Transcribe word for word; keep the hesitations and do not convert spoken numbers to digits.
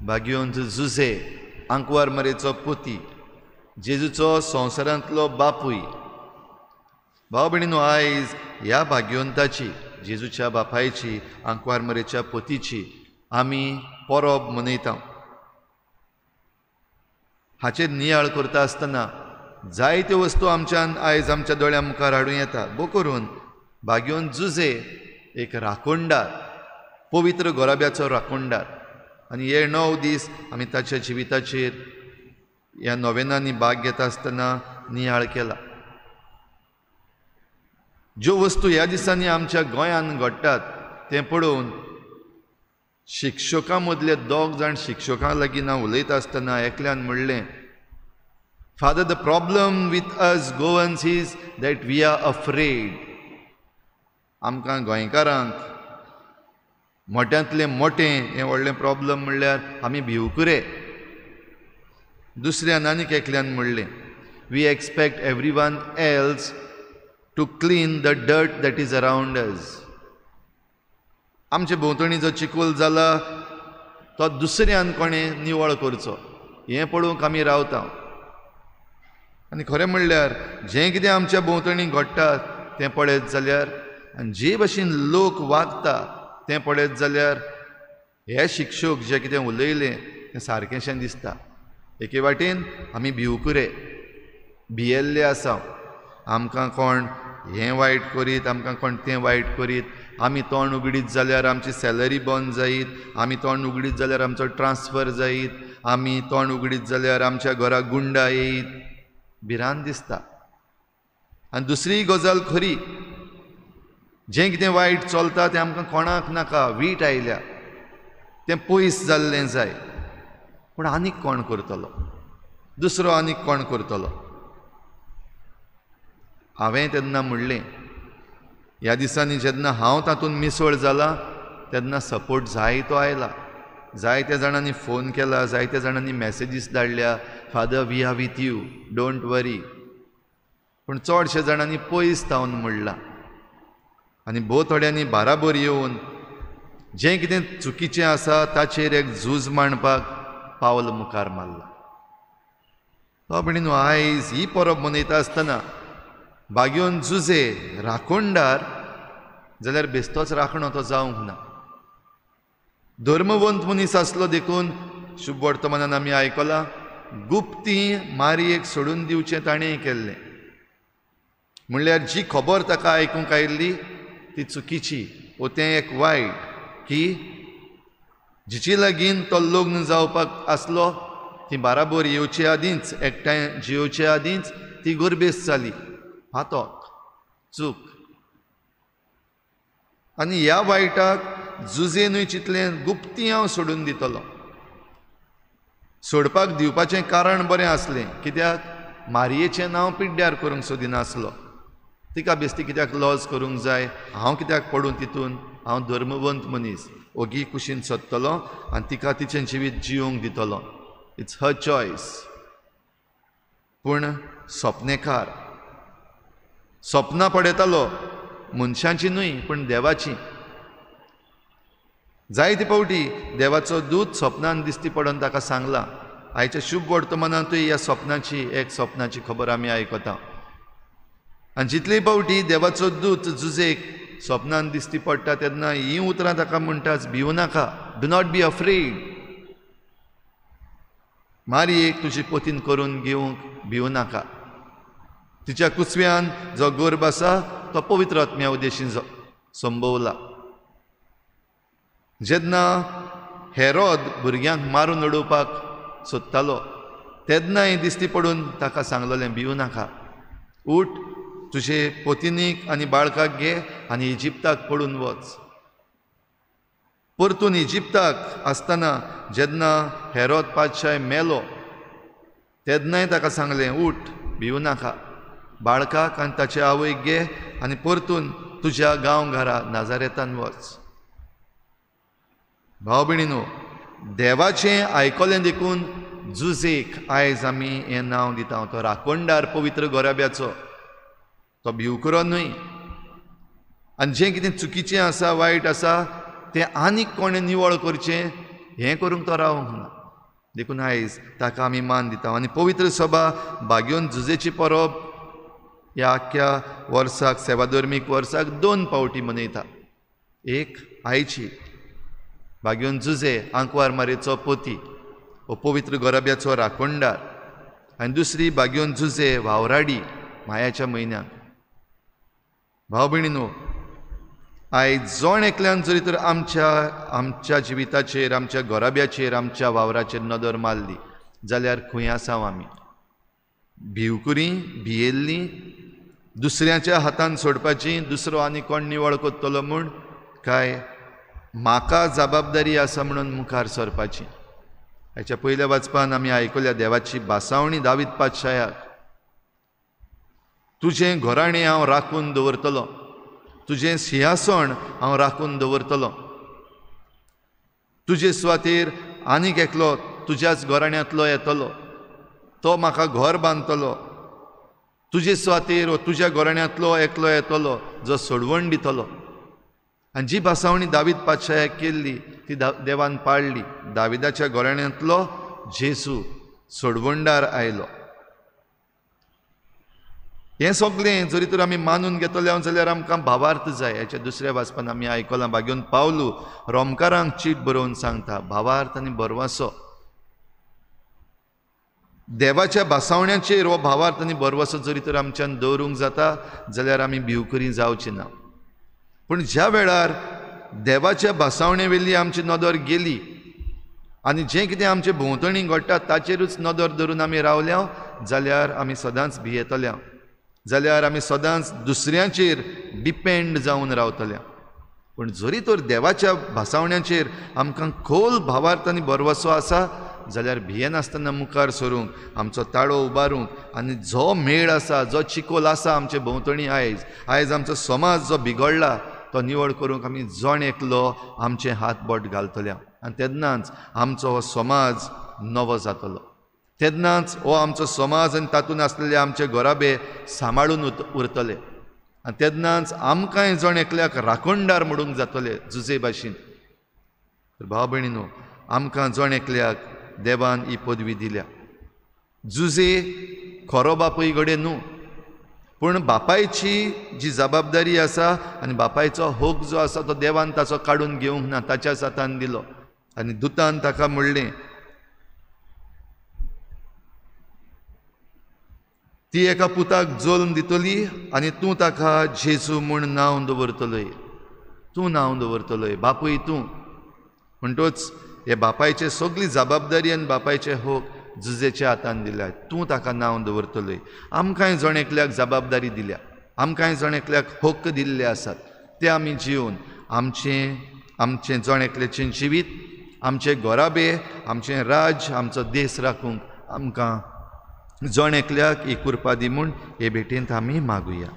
भाग्यवंत जुझे आंकवार मरेचो पोती, जेजूचो संवसारांतलो बापूय। भाव भयणीनो, आयज ह्या भाग्यवंताची, जेजूच्या बापायची, आंकवार मरेच्या पोतीची आमी परब मनयता। हाचेर नियाळ करता आसतना जायत्यो वस्तू आमच्यान आयज आमच्या दोळ्यां मुखार हाडूं येता। भो करून भाग्यवंत जुझे एक राखणदार, पवित्र गोराब्याचो राखणदार, आनी हे णव दीस आमी ताच्या जिविताचेर ह्या नोवेनांनी भाग घेता आसतना नियाळ केला। ज्यो वस्तू ह्या दिसांनी आमच्या गोंयांत घडटात तें पळोवन शिक्षकां मदले दोग जाण शिक्षकां लागीं ना उलयता आसतना एकल्यान म्हणलें, Father, the problem with us Goans is that we are afraid. आमकां गोंयकारांक मोट्यांतलें मोटें हें व्हडलें प्रॉब्लम म्हणल्यार आमी भिवकुरे। दुसऱ्यान आनीक एकल्यान म्हणलें, we expect everyone else to clean the dirt that is around us. आमचे भोंवतणी जो चिखोल जाला तो दुसऱ्यान कोणें निवळ करचो हें पळोवंक आमी रावता। आनी खरें म्हणल्यार जें कितें आमच्या भोंवतणी घडटा तें पळयत जाल्यार आनी जे भशेन लोक वागता तें पळयत जाल्यार हे शिक्षक जें कितें उलयलें तें सारकेंशें दिसता। एके वाटेन आमी भिवकुरे, भियेल्ले आसा। आमकां कोण हें वायट करीत, आमकां कोण तें वायट करीत, आमी तोंड उगडीत जाल्यार आमची सॅलरी बंद जायत, आमी तोंड उगडीत जाल्यार आमचो ट्रान्सफर जायत, आमी तोंड उगडीत जाल्यार आमच्या घरा गुंडा येयत, भिरांत दिसता। आनी दुसरी गजाल खरी, जें कितें वायट चलता तें आमकां कोणाक नाका, वीट आयल्या तें पयस जाल्लें जाय, पूण आनीक कोण करतलो, दुसरो आनीक कोण करतलो। हांवें तेन्ना म्हणलें, ह्या दिसांनी जेन्ना हांव तातूंत मिसळ जाला तेन्ना सपोर्ट जायतो आयला, जायत्या जाणांनी फोन केला, जायत्या जाणांनी मॅसेजीस धाडल्या, Father we are with you, don't worry. पूण चडशे जाणांनी पयस थावन म्हणलां आनी भोव थोड्यांनी बाराबर येवन जें कितें चुकीचें आसा ताचेर एक झूज मांडपाक पावल मुखार मारलां। तो भयणीनो, आयज ही परब मनयता आसतना भाग्यवंत जुझे राखणदार जाल्यार बेस्तोच राखणो तो जावंक ना। धर्मवंत मनीस आसलो देखून शुभ वर्तमानान आमी आयकलां, गुप्ती मारयेक सोडून दिवचें ताणें केल्लें। म्हणल्यार जी खबर ताका आयकूंक आयिल्ली ती चुकीची वो तें एक वायट की जिचे लागीं तो लग्न जावपाक आसलो ती बाराबर येवचे आदींच, एकठांय जियोवचे आदींच ती गोरबेस जाली, फातोक चूक। आनी ह्या वायटाक जुझेनूय चिंतलें, गुप्ती हांव सोडून दितलो। सोडपाक दिवपाचें कारण बरें आसलें, कित्याक मारयेचें नांव पिड्ड्यार करूंक सोदिनासलो, तिका बेस्ती कित्याक लॉज करूंक जाय, हांव कित्याक पडूं तितून, हांव धर्मवंत मनीस, ओगी कुशीन सोदतलो आनी तिका तिचें जिवीत जियोंक दितलो, it's her choice. पूण सपनेकार सपनां पळयतालो, मनशांची न्हय पूण देवाची। जायते फावटी देवाचो दूत सपनान दिसती पडून ताका सांगलां। आयच्या शुभ वर्तमानांतूय ह्या सपनाची एक सपनाची खबर आमी आयकता। आनी जितले फावटी देवाचो दूत जुझेक सपनान दिसती पडटा तेन्ना हीं उतरां ताका म्हणटाच, भिवू नाका, do not be afraid, मारयेक तुजी पोतीन करून घेवंक भिवू नाका, तिच्या कुसव्यान जो गर्भ आसा तो पवित्र आत्म्या उद्देशीन संभवला। जेन्ना हेरोद भुरग्यांक मारून उडोवपाक सोदतालो तेन्नाय दिसती पडून ताका सांगलेलें, भिवू नाका, उठ, तुजे पोतिनीक आनी बाळकाक घे आनी इजिप्ताक पडून वच। परतून इजिप्ताक आसतना जेन्ना हेरोद पातशाय मेलो तेन्नाय ताका सांगलें, उठ, भिवू नाका, बाळकाक आनी ताचे आवयक घे आनी परतून तुज्या गांव घरा नाजारेतान वच। भाव भयणीनो, देवाचें आयकलें देखून जुझेक आयज आमी हें नांव दिता। तो राखणदार पवित्र गोराब्याचो, तो भिवकुरो न्हय। आनी जें कितें चुकीचें आसा, वायट आसा तें आनीक कोणें निवळ करचें हें करूंक तो रावंक ना. देखून आयज ताका आमी मान दिता. आनी पवित्र सभा बागयोन जुजेची परब ह्या आख्ख्या वर्साक, सेवाधर्मीक वर्साक दोन पावटी मनयता. एक आयची बागयोन जुजे आंकवार मारेचो पोती हो पवित्र गोराब्याचो राखणदार, आनी दुसरी बागयोन जुजे वावराडी मायाच्या म्हयन्याक. भाव भयणीनो, आयज जण एकल्यान जरी तर आमच्या आमच्या जिविताचेर, आमच्या घराब्याचेर, आमच्या वावराचेर नदर मारली जाल्यार खंय आसा आमी? भिवकुरी, भियेल्ली, दुसऱ्याच्या हातान सोडपाची, दुसरो आनी कोण निवळ करतलो म्हूण, काय म्हाका जबाबदारी आसा म्हणून मुखार सरपाची? हाच्या पयल्या वाचपान आमी आयकल्या देवाची भासावणी दावीद पातशायाक, तुजें घराणें हांव राखून दवरतलो, तुजें सिंहासन हांव राखून दवरतलो, तुजे सुवातेर आनीक एकलो तुज्याच घराण्यांतलो येतलो, तो म्हाका घर बांदतलो, तुजे सुवातेर व तुज्या घराण्यांतलो एकलो येतलो जो सोडवण दितलो. आनी जी भासावणी दावीद पातशायाक केल्ली ती देवान पाळ्ळी. दाविदाच्या घराण्यांतलो जेजू सोडवणदार आयलो. हें सगळें जरी तर आमी मानून घेतले जाल्यार आमकां भावार्थ जाय. हाच्या दुसऱ्या वाचपान आमी आयकलां बागयोन पावलू रोमकारांक चीट बरोवन सांगता, भावार्थ आनी भरवंसो. देवाच्या भासावण्याचेर हो भावार्थ आनी भरवंसो जरी तर आमच्यान दवरूंक जाता जाल्यार आमी भिवकुरी जावची ना. पूण ज्या वेळार देवाच्या भासावणे वेली आमची नदर गेली आनी जें कितें आमचे भोंवतणी घडटा ताचेरूच नदर धरून आमी रावल्या जाल्यार आमी सदांच भियेतल्या, जाल्यार आमी सदांच दुसऱ्यांचेर डिपेंड जावन रावतल्या. पूण जरी तर देवाच्या भासावण्याचेर आमकां खोल भावार्थ आनी भरवंसो आसा जाल्यार भियेनासतना मुखार सरूंक, आमचो ताळो उबारूंक, आनी जो मेळ आसा, जो चिकोल आसा आमचे भोंवतणी आयज आयज आमचो समाज जो बिगडला तो निवळ करूंक आमी जण एकलो आमचे हात बोट घालतल्या. आनी तेन्नाच आमचो हो समाज नवो जातलो, तेन्नाच हो आमचो समाज आनी तातूंत आसलेले आमचे घराबे सांबाळून उरतले, आनी तेन्नाच आमकांय जण एकल्याक राखणदार म्हणूंक जातले जुजे भाशेन. तर भाव भयणीनो, आमकां जण एकल्याक देवान ही पदवी दिल्या. जुजे खरो बापूय घडये न्हू, पूण बापायची जी जबाबदारी आसा आनी बापायचो हक जो आसा तो देवान ताचो काडून घेवंक ना, ताच्याच हातान दिलो. आनी दुतान ताका म्हणलें, ती एका पुताक जल्म दितली आनी तूं ताका जेजू म्हूण नांव दवरतलोय, तूं नांव दवरतलोय, बापूय तूं. म्हणटोच हे बापायचे सगळी जबाबदारी आनी बापायचे हक जुजेच्या हातान दिल्या, तूं ताका नांव दवरतलोय. आमकांय जण एकल्याक जबाबदारी दिल्या, आमकांय जण एकल्याक हक्क दिल्ले आसात, ते आमी जिवन आमचें आमचें जण एकल्याचें जिवीत, आमचे घराबे, आमचें राज्य, आमचो देश राखूंक आमकां जण एकल्याक ही कृपा दी म्हूण हे भेटेंत आमी मागुया.